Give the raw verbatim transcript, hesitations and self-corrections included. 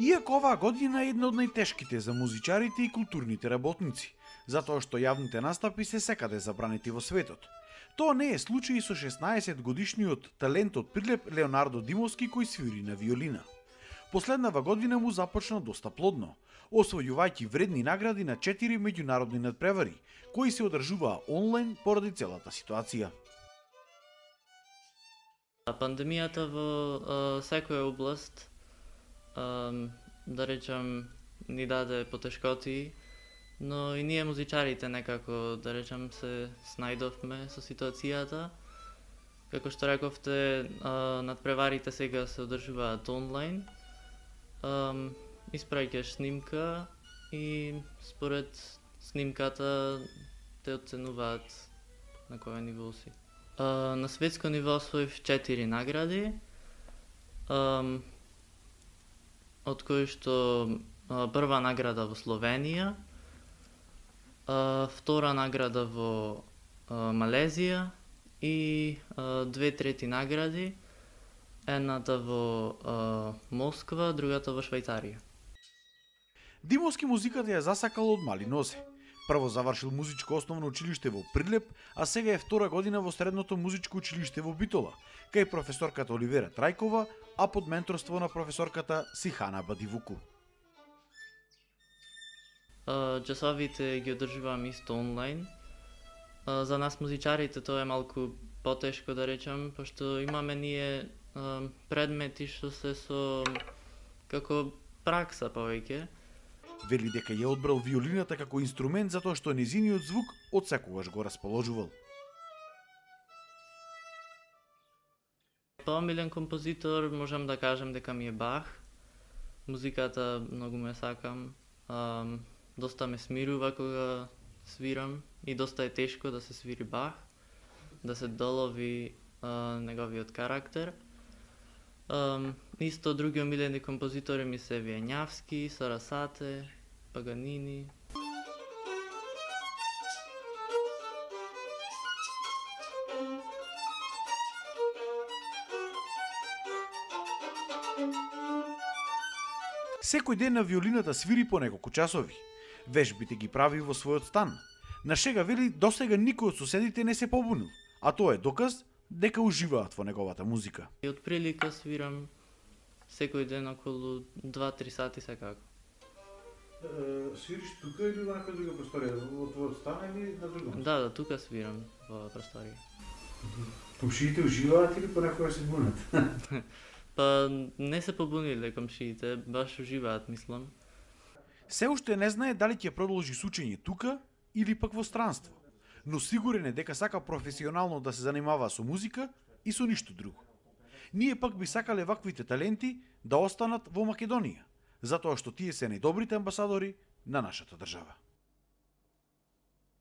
Иако оваа година е една од најтешките за музичарите и културните работници, затоа што јавните настапи се секаде забранети во светот. Тоа не е случај со шеснаесет годишниот талентот Прилеп Леонардо Димовски кој свири на виолина. Последнава година му започна доста плодно, освојувајќи вредни награди на четири меѓународни надпревари, кои се одржуваа онлайн поради целата ситуација. Пандемијата во а, секоја област, а, да речам, ни даде потешкоти, но и ние музичарите некако, да речам, се снајдовме со ситуацијата. Како што рековте, а, надпреварите сега се одржуваат онлайн. А, испраќаш снимка и според снимката те оценуваат на кој ниво си. А, на светско ниво освоив четири награди, а, од кои што а, прва награда во Словенија, а, втора награда во а, Малезија и а, две трети награди, едната во а, Москва, другата во Швајцарија. Димовски музиката ја засакал од мали нозе. Прво завршил музичко основно училиште во Прилеп, а сега е втора година во средното музичко училиште во Битола, кај професорката Оливера Трајкова, а под менторство на професорката Сихана Бадивуку. Uh, часовите ги одржувам исто онлайн. Uh, за нас музичарите тоа е малку потешко, да речам, пошто имаме ние uh, предмети што се со како пракса повеќе. Вели дека ја одбрал виолината како инструмент затоа што незиниот звук од секогаш го расположувал. Поомилен композитор можам да кажам дека ми е Бах. Музиката многу ме сакам. Uh, доста ме смирува кога свирам и доста е тешко да се свири Бах, да се долови uh, неговиот карактер. Um, исто други омилени композитори ми се Вијањавски, Сарасате, Паганини. Секој ден на виолината свири по неколку часови. Вежбите ги прави во својот стан. На шега вели досега никој од соседите не се побунил, а тоа е доказ дека уживаат во неговата музика. И од прилика свирам секој ден околу два-три сати секако. Uh, свириш тука или во некоја друга просторија? Во твојот стан или на другом? Да, да, тука свирам во просторија. Комшиите уживаат или понекогаш се бунат? Па не се побуниле комшиите, баш уживаат, мислам. Се уште не знае дали ќе продолжи с учење тука или пак во странство, но сигурен е дека сака професионално да се занимава со музика и со ништо друго. Ние пак би сакале ваквите таленти да останат во Македонија, затоа што тие се најдобрите амбасадори на нашата држава.